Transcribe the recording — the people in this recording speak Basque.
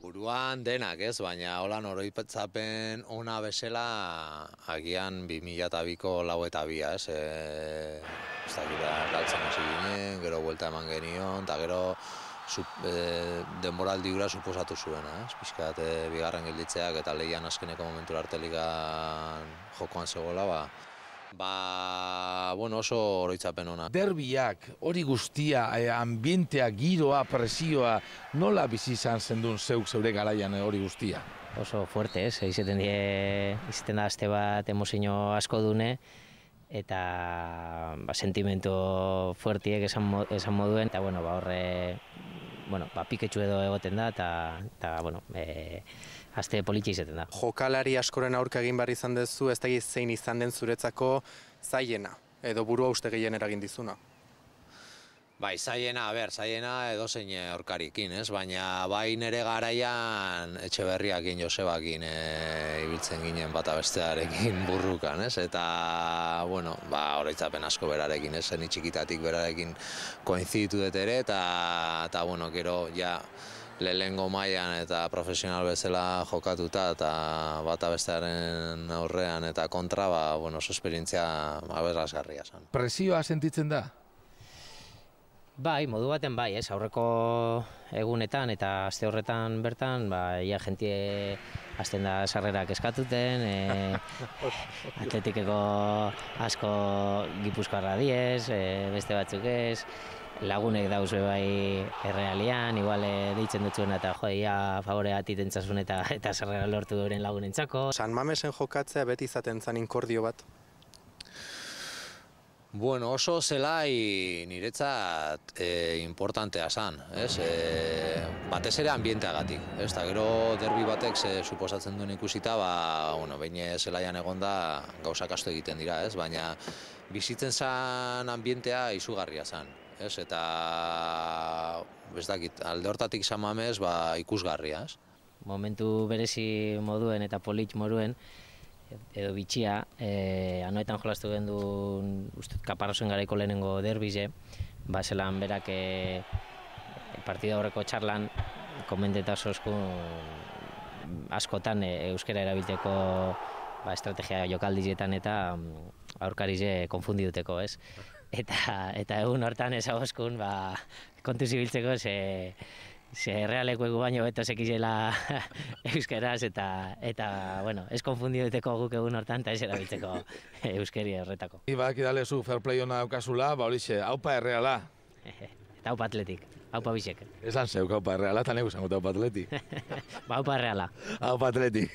Buruan denak ez, baina holan oroitzapen ona bezala agian 2002ko 4:02, ez? Ez dakit galtzen hasi ginen, gero buelta eman genion, eta gero denboraldi hura suposatu zuena, ez? Pixkat bigarren gelditzeak eta lehian azkeneko momentura arte ligan jokoan zegoela, bueno, oso oroitzapen ona. Derbiak, hori guztia, ambientea, giroa, presioa, nola bizi izan zendun zeure garaian hori guztia? Oso fuerte, ez? Izaten da aste bat emozio asko dune, eta sentimentu fuertiek esan moduen, eta horre piketxu edo egoten da, eta aste politxe izaten da. Jokalari askoren aurka egin behar izan duzu, ez da zein izan den zuretzako zailena, edo burua uste gehien eragin dizuna? Bai, zailena edozein aurkarikin, ez? Baina bai nire garaian Etxeberriakin, Josebakin ibiltzen ginen bata bestearekin burrukan, ez? Eta, oroitzapen asko berarekin, ez? Ni txikitatik berarekin koinziditu dut ere, eta gero, lehengo mailan eta profesional bezala jokatuta eta bata bestearen aurrean eta kontra, oso esperientzia aberasgarria zen. Presioa sentitzen da? Bai, modu baten bai, ez, aurreko egunetan eta aste horretan bertan, ia jentie hasten da sarrerak eskatuten, atletikeko asko Gipuzkoarra diez, beste batzuk ez, lagunek dauzue bai errealian, igual deitzen dutzuena eta ia favorea atitentzazun eta sarrera lortu euren lagunentzako. San Mamesen jokatzea beti izaten zan inkordio bat? Bueno, oso zelai niretzat importantea zan, ez? Batez ere ambienteagatik, ez? Eta gero derbi batek suposatzen duen ikusita, behin zelaian egonda gauzak asko egiten dira, ez? Baina bizitzen zan ambientea izugarria zan, ez? Eta alde hortatik San Mames ikusgarria, ez? Momentu berezi moduen eta polit moduen, edo bitxia, anoetan jolastu gendun Kaparrosen garaiko lehenengo derbize, zelan berak partida horreko txarlan komendeta askotan euskera erabilteko estrategia jokaldizietan eta aurkarize konfundiduteko, ez? Eta egun hortan ezagoskun kontuz ibiltzeko ze realeko egu baino beto sekizela euskeraz eta ez konfundiduteko guk egun hortan eta ez erabiltzeko euskeri horretako. Ibak idalezu fair play hona daukazula, horixe, haupa erreala. Eta haupa atletik, haupa bisek. Esan zeuk haupa erreala, eta negu zango haupa atletik. Haupa erreala. Haupa atletik.